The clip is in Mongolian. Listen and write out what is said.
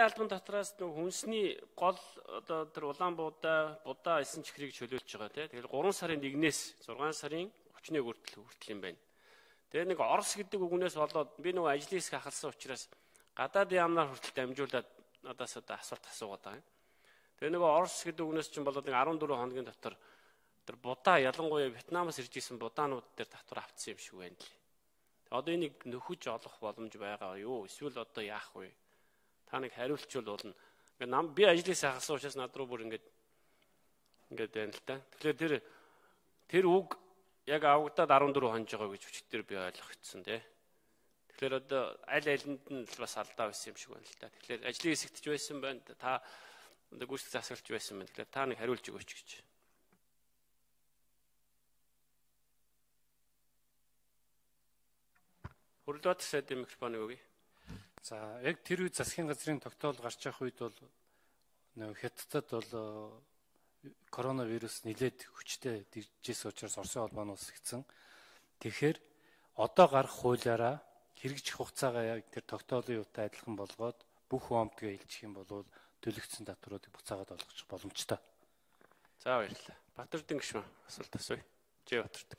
Албан дотроос нэг хүнсний гол одоо тэр улаан будаа эсэн чихрийг чөлөөлж байгаа тийм. Тэгэхээр 3 сарын 1-ээс 6 сарын 31 хүртэл юм байна. Тэгээ нэг Орос гэдэг үгнээс болоод би нөгөө ажлын хэсэг ахалсан учраас гадаадын яамнаар хүртэл дамжуулаад надаас одоо асуулт асуугаад байгаа юм. Тэгээ нөгөө Орос гэдэг үгнээс чинь болоод нэг 14 хоногийн дотор тэр будаа ялангуяа Вьетнамаас ирж исэн будаанууд дээр татвар авцсан юм шиг байна л. Одоо энийг нөхөж олох боломж байгаа юу? Эсвэл одоо яах вэ? Та нэг хариулчвал болно. Ингээд би ажлаас хагасан учраас над руу бүр ингээд байна л та. Тэгэхээр тэр үг яг авагдаад 14 хонж байгаа гэж өчтөр би ойлгоцсон тий. Тэгэхээр одоо аль алинд нь бас алдаа байсан юм шиг байна л та. Тэгэхээр ажлын хэсэгт ч байсан байна. Та гүйцэтгэх засаглалч байсан байна. Тэгэхээр та нэг хариулж өгөөч гэж. Хөрлөд сайдын микрофоныг өгье. За яг тэр үед засгийн газрын тогтоол гарч явах үед бол Хятадд бол коронавирус нэлээд хүчтэй дижсэн учраас Оросын холбооны улс ихсэн. Тэгэхээр одоо гарах хуулиараа хэрэгжих хугацаагаа яг тэр тогтоолын юутай адилхан болгоод бүх хуамдгаа илжих юм бол төлөгдсөн татваруудыг буцаагаад олгох боломжтой. За баярлалаа. Батэрдэн гишүүн асуулт асууя. Жи Батэрдэн.